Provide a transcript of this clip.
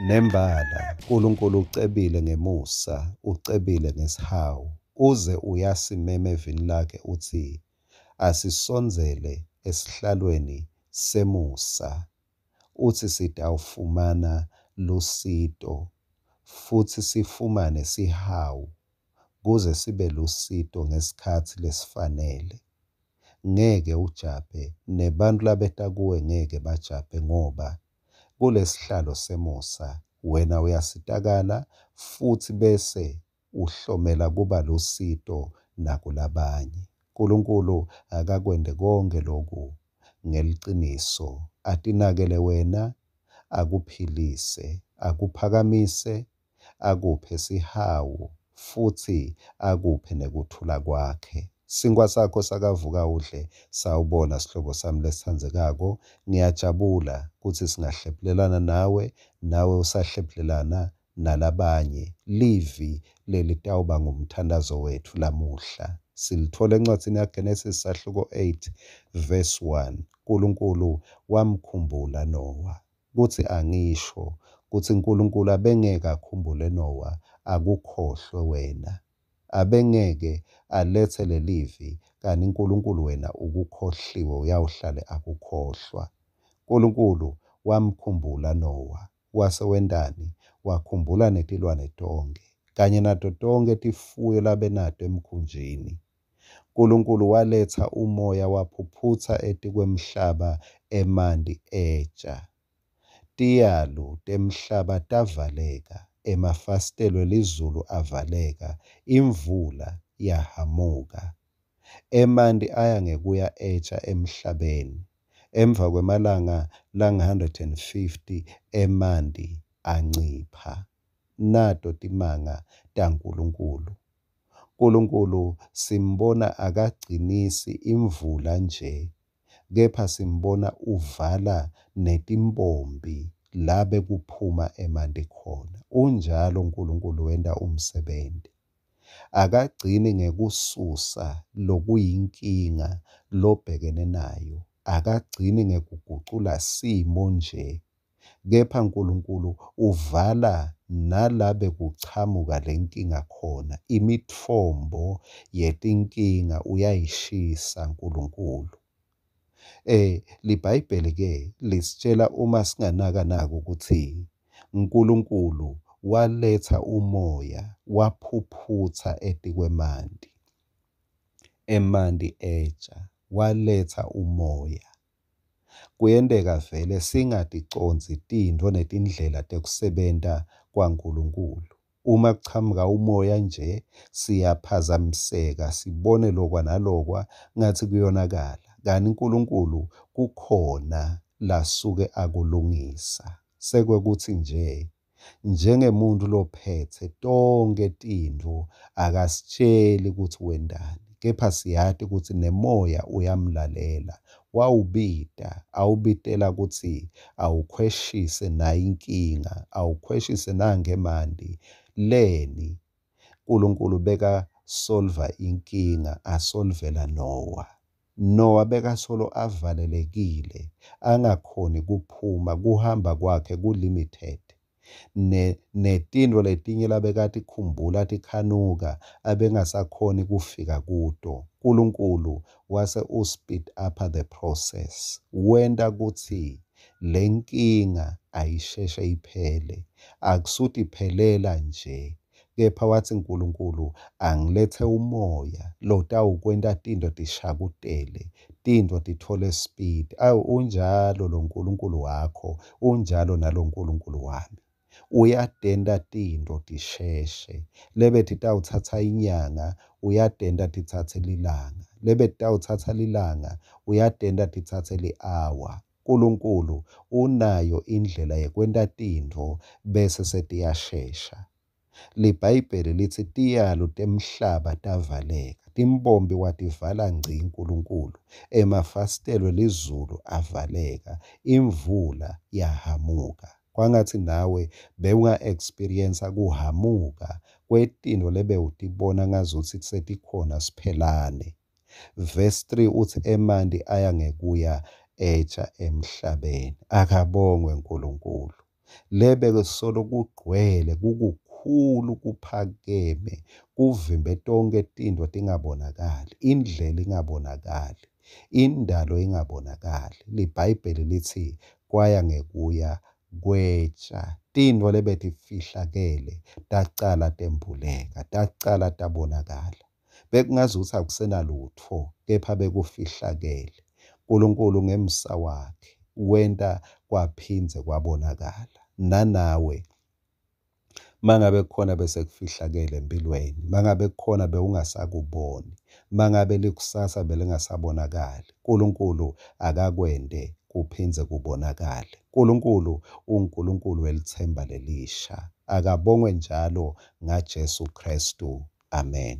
Nembala, Nkulunkulu ucebile ngemusa, ucebile ngesihawu. Uze uyasimema evini lakhe utsi asisondzele esihlalweni semusa, utsi sitawufumana lusito futsi sifumane sihawu kuze sibe lusito ngesikhatsi lesifanele. Ngeke ujabhe, nebantfu labeta kuwe ngeke bajabhe ngoba kulesihlalo semusa wena uyasitakala futsi bese uhlomela kuba lusito nakulabanye. Nkulunkulu akakwente konkhe loku ngeliciniso, atinakele wena, akuphilise, akuphakamise, akuphe sihawu futsi akuphe nekuthula kwakhe. Sinkhwa sakho sakavuka udle, sawubona sihlobo sami lesitsandzekako. Ngiyajabula kutsi singahlephulelana nawe, nawe usahlephulelana nalabanye. Livi lelitawuba ngumthandazo wetfu lamuhla. Silithola encwadzini yaGenesis sahluko 8 verse 1. Nkulunkulu wamkhumbula Noah. Kutsi angisho kutsi Nkulunkulu abengeke akhumbule Noah akukhohlwe wena. Abengeke aletse lelivi kani Nkulunkulu wena ukukhohliwe uyawuhlale akukhohlwa. Nkulunkulu wamkhumbula Noah wase wentani? Wakhumbula netilwane tonkhe kanye nato tonkhe tifuyo labenato emkhunjini. Nkulunkulu waletsa umoya waphuphutsa etikwemhlaba emanti etsha. Tiyalu temhlaba tavaleka, emafasitelo elizulu avaleka, imvula yahhamuka. Emanti aya ngekuya etsha emhlabeni. Emva kwemalanga langu-150 emanti ancipha. Nato timanga taNkulunkulu. Nkulunkulu simbona akagcinisi imvula nje, kepha simbona uvala netimpompi la bekuphuma emanti khona. Unjalo Nkulunkulu wenta umsebenti. Akagcini ngekususa lokuyinkinga lobhekene nayo, akagcini ngekugucula simo nje, kepha Nkulunkulu uvala nala bekuchamuka lenkinga khona. Imitfombo yetinkinga uyayishisa Nkulunkulu. LiBhayibheli ke lisitshela uma singanaka nako ukuthi Nkulunkulu waletsa umoya waphuphutsa etikwemanti. Emanti etsha, waletsa umoya. Kuyenteka vele singaticondzi tintfo netindlela tekusebenta kwaNkulunkulu. Uma kuchamuka umoya nje siyaphazamiseka sibone lokwa nalokwa ngathi kuyonakala. Kanti Nkulunkulu kukhona lasuke akulungisa. Sekwekuthi nje njengemuntu lophetse tonkhe tintfo akasitsheli kutsi wentani, kepha siyati kutsi nemoya uyamlalela. Wawubita, awubitela kutsi awukhweshise nayi inkinga, awukhweshise nankhe emanti. Leni? Nkulunkulu bekasolva inkinga, asolvela Noah. Noah bekasolo avalelekile, angakhoni kuphuma, kuhamba kwakhe ku-limited. Netintfo letinye labekatikhumbula tikhanuka abengasakhoni kufika kuto. Nkulunkulu wase u-speed up the process. Wenta kutsi lenkinga ayisheshe iphele. Akusutiphelela nje, kepha watsi Nkulunkulu angilethe umoya lotawukwenta tintfo tishakutele, tintfo titfole speed. Awu unjalo lo Nkulunkulu wakho, unjalo nalo Nkulunkulu wami. Uyatenta tintfo tisheshe, lebetitawutsatsa inyanga uyatenta titsatse lilanga, lebetitawutsatsa lilanga uyatenta titsatse li-hour. Nkulunkulu unayo indlela yekwenta tintfo bese setiyashesha. LiBhayibheli litsi tiyalu temhlaba tavaleka, timpompi wativala ngci Nkulunkulu, emafasitelo elizulu avaleka, imvula yahamuka. Kwangatsi nawe bewunga-experience kuhamuka kwetintfo lebewutibona ngazutsi setikhona siphelane. Verse 3 utsi emanti aya ngekuya etsha emhlabeni. Akabongwe Nkulunkulu. Lebekesolo kugcwele kukukhulu kuphakeme kuvimbe tonkhe tintfo tingabonakali, indlela ingabonakali, indalo ingabonakali. LiBhayibheli litsi kwaya ngekuya kwetsha tintfo lebetifihlakele tacala tembuleka, tacala tabonakala. Bekungazuthi akusenalutfo kepha bekufihlakele. Nkulunkulu ngemsa wakhe wenta kwaphindze kwabonakala. Nanawe mangabe kukhona bese kufihlakele empilweni, mangabe kukhona bewungasakuboni, mangabe likusasa belingasabonakali, Nkulunkulu akakwente kuphindze kubonakale. Nkulunkulu uNkulunkulu welitsemba lelisha. Akabongwe njalo ngaJesu Kristu. Amen.